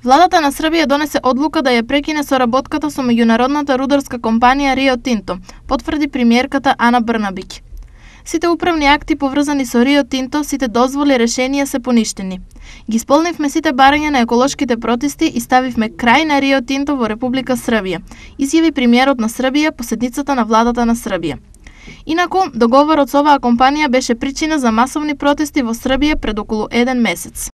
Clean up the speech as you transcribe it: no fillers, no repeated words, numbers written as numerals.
Владата на Србија донесе одлука да ја прекине соработката со меѓународната рударска компанија Рио Тинто, потврди премиерката Ана Брнабиќ. Сите управни акти поврзани со Рио Тинто, сите дозволи решенија се поништени. Ги исполнивме сите барања на еколошките протести и ставивме крај на Рио Тинто во Република Србија, изјави премиерот на Србија по седницата на владата на Србија. Инаку, договорот со оваа компанија беше причина за масовни протести во Србија пред околу 1 месец.